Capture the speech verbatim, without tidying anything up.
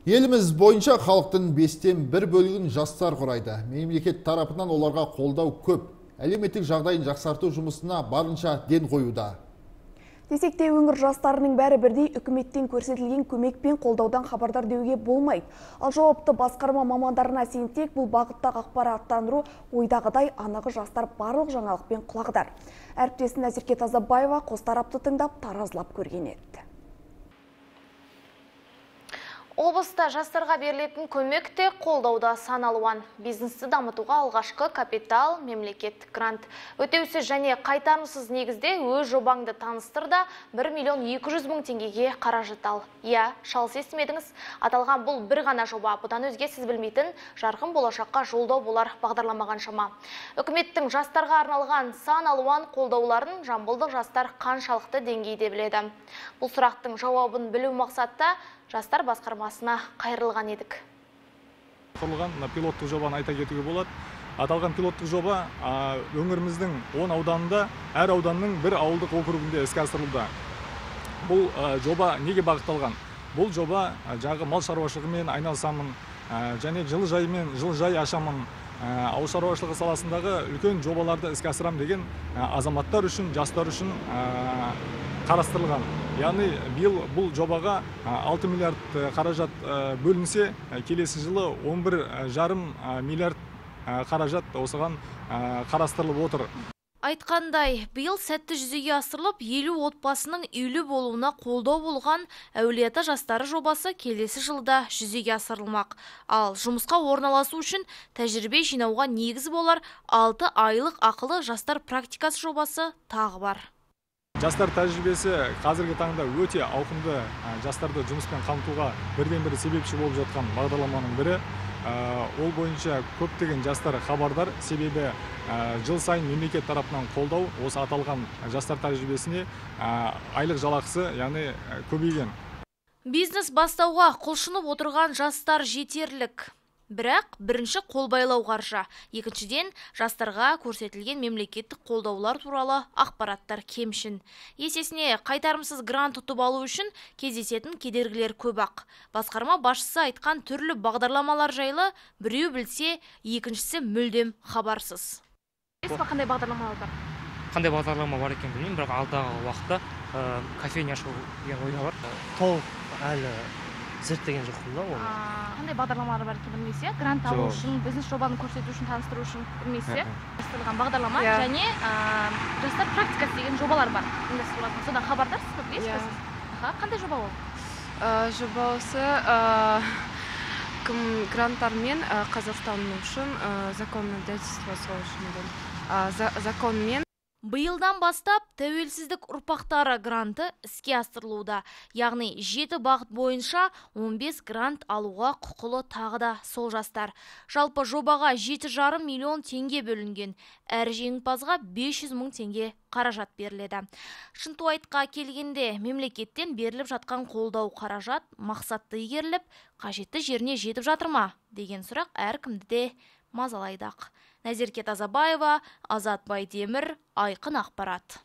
Еліміз бойынша халықтың бестен бір бөлігін жастар құрайды. Мемлекет тарапынан оларға қолдау көп. Әлеуметтік жағдайын жақсарту жұмысына барынша ден қоюда. Десек те өңір жастарының бәрі бірдей үкіметтен көрсетілген көмек пен қолдаудан хабардар деуге болмайды. Ал жауапты басқарма мамандарына сенсек, бұл бағыттағы ақпараттандыру ойдағыдай анығы жастар барлық жаңалықпен құлағдар. Әріптесім Назерке Тазабаева қос тарапты тыңдап таразылап көрген еді. Облыста жастарға берілетін көмек те қолдауда сан алуан. Бизнесті дамытуға алғашқы капитал, мемлекеттік грант. Өтеусіз және қайтарымсыз негізде өз жобаңды таныстырда бір миллион екі жүз мың теңгеге қаражат ал. Иә, шалыс естімедіңіз. Аталған бұл бір ғана жоба. Бұдан өзге сіз білмейтін жарқын болашаққа жолдау болар бағдарламаған шама. Үкіметтің жастарға арналған сан алуан қолдауларын жамбылдық жастар қаншалықты деңгейде біледі. Бұл сұрақтың жауабын білу мақсатта жастар басқармасына қайырылған едік. Құрылған пилоттық жобаны айта кетуге болады. Аталған пилоттық жоба өңіріміздің он ауданында, әр ауданның бір ауылдық округінде іске асырылуда. Бұл жоба неге бағытталған? Бұл жоба жағы мал шаруашылығымен айналысамын, және жылыжаймен жылыжай ашамын, ауыл шаруашылығы саласындағы үлкен жобаларды іске асырам деген азаматтар үшін, жастар үшін қарастырылған. Яғни биыл бұл жобаға алты миллиард қаражат бөлінсе, келесі жылы он бір жарым миллиард қаражат осыған қарастырылып отыр. Айтқандай, биыл сәтті жүзеге асырылып, елу отбасының үйлі болуына қолдау болған Әулиеата жастары жобасы келесі жылда жүзеге асырылмақ. Ал жұмысқа орналасу үшін тәжірибе жинауға негіз болар алты айлық ақылы жастар практикасы жобасы тағы бар. Жастар тәжірибесі қазіргі таңда өте ауқымды, жастарды жұмыспен қамтуға бірден бірі себепші болып жатқан бағдарламаның бірі. Ол бойынша көптеген жастар хабардар, себебі жыл сайын мемлекет тарапынан қолдау осы аталған жастар тәжірибесіне айлық жалақысы, яғни көбейген. Бизнес бастауға құлшынып отырған жастар жетерлік. Бірақ бірінші қолбайлау қаржы, екіншіден жастарға көрсетілген мемлекеттік қолдаулар туралы ақпараттар кемшін. Есесіне қайтарымсыз грант ұтып алу үшін кездесетін кедергілер көп ақ. Басқарма басшысы айтқан түрлі бағдарламалар жайлы біреу білсе, екіншісі мүлдем хабарсыз. Қандай бағдарламалар бар? Қандай бағдарлама бар екен білмеймін, бірақ алдағы уақытта кофейня ашу деген ойда бар. Толық әлі зерттеген жоқпын да оны. Қандай бағдарламалар бар екен білмесе, грант алу үшін, бизнес жобаны көрсету үшін, таныстыру үшін білмесе, бастырылған бағдарлама және жастар практикасы деген жобалар бар. Содан хабардарсыз ба, білесіз бе? Қандай жоба ол? Жоба осы гранттармен Қазақстан үшін законодательство үшін законмен Биылдан бастап тәуелсіздік ұрпақтары гранты іске асырылуда. Яғни жеті бағыт бойынша он бес грант алуға құқылы тағы да сол жастар. Жалпы жобаға жеті жарым миллион теңге бөлінген. Әр жеңімпазға бес жүз мың теңге қаражат беріледі. Шынтуайтқа келгенде мемлекеттен беріліп жатқан қолдау қаражат мақсатты игеріліп, қажетті жеріне жетіп жатыр ма деген сұрақ әркімді де мазалайдақ. Назерке Тазабаева, Азат Байдемір, Айқын ақпарат.